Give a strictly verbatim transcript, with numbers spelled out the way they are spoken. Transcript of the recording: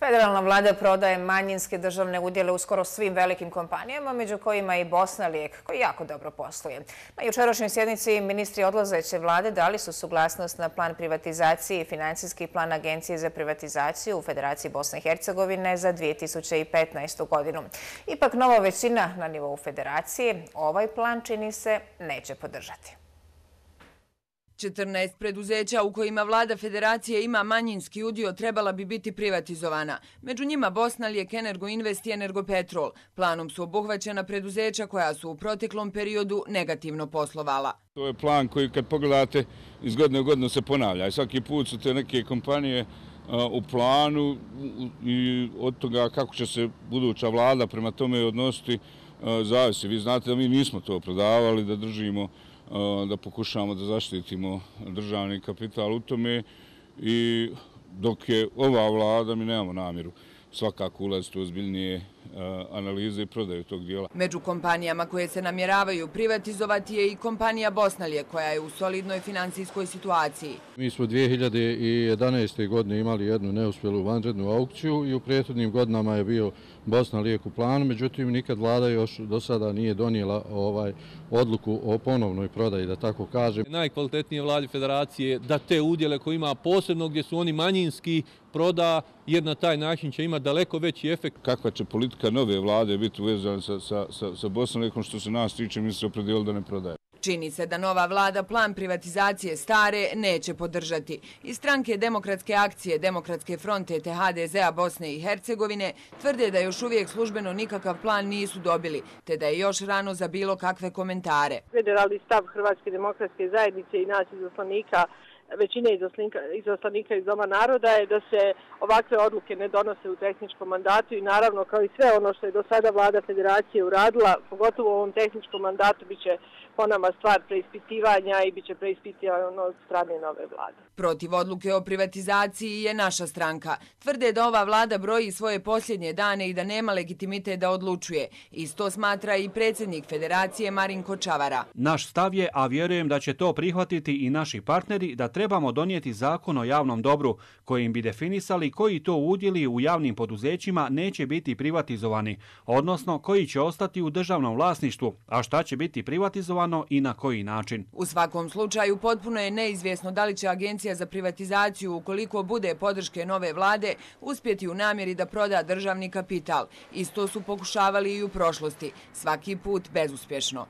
Federalna vlada prodaje manjinske državne udjele u skoro svim velikim kompanijama, među kojima i Bosnalijek, koji jako dobro posluje. Na jučerašnjoj sjednici ministri odlazeće vlade dali su suglasnost na plan privatizacije i financijski plan Agencije za privatizaciju u Federaciji Bosne i Hercegovine za dvije tisuće petnaestu. godinu. Ipak nova većina na nivou federacije ovaj plan, čini se, neće podržati. četrnaest preduzeća u kojima vlada federacije ima manjinski udio trebala bi biti privatizovana. Među njima Bosnalijek, Energoinvest i Energopetrol. Planom su obuhvaćena preduzeća koja su u proteklom periodu negativno poslovala. To je plan koji kad pogledate iz godine u godinu se ponavlja. I svaki put su te neke kompanije u planu i od toga kako će se buduća vlada prema tome odnositi zavisi. Vi znate da mi nismo to prodavali, da držimo, da pokušamo da zaštitimo državni kapital u tome i dok je ova vlada mi nemamo namjeru svakako ulaziti u ozbiljnije analize i prodaju tog dijela. Među kompanijama koje se namjeravaju privatizovati je i kompanija Bosnalijek, koja je u solidnoj finansijskoj situaciji. Mi smo dvije hiljade jedanaeste. godine imali jednu neuspjelu vanrednu aukciju i u prethodnim godinama je bio Bosnalijek u planu, međutim nikad vlada još do sada nije donijela ovaj odluku o ponovnoj prodaji, da tako kažem. Najkvalitetnije vladi federacije da te udjele koje ima posebno gdje su oni manjinski proda, jer na taj način će imati daleko veći efekt. Kakva će politika nove vlade biti uvezana sa, sa, sa, sa Bosnalijekom, što se nas tiče, mi se opredijelili da ne prodaje. Čini se da nova vlada plan privatizacije stare neće podržati. Iz stranke Demokratske akcije, Demokratske fronte te ha de zea Bosne i Hercegovine tvrde da još uvijek službeno nikakav plan nisu dobili, te da je još rano za bilo kakve komentare. Federalni stav Hrvatske demokratske zajednice i nas izaslanika, većine izaslanika iz Doma naroda je da se ovakve odluke ne donose u tehničkom mandatu i naravno kao i sve ono što je do sada vlada federacije uradila, pogotovo u ovom tehničkom mandatu, bit će po nama stvar preispitivanja i bit će preispitivano od strane nove vlade. Protiv odluke o privatizaciji je naša stranka. Tvrde da ova vlada broji svoje posljednje dane i da nema legitimitet da odlučuje. Isto smatra i predsjednik federacije Marinko Čavara. Naš stav je, a vjerujem da će to prihvatiti i naši partneri, da trebamo donijeti zakon o javnom dobru kojim bi definisali koji to udjeli u javnim poduzećima neće biti privatizovani, odnosno koji će ostati u državnom vlasništvu, a šta će biti privatizovano i na koji način. U svakom slučaju potpuno je neizvjesno da li će Agencija za privatizaciju, ukoliko bude podrške nove vlade, uspjeti u namjeri da proda državni kapital. Isto su pokušavali i u prošlosti, svaki put bezuspješno.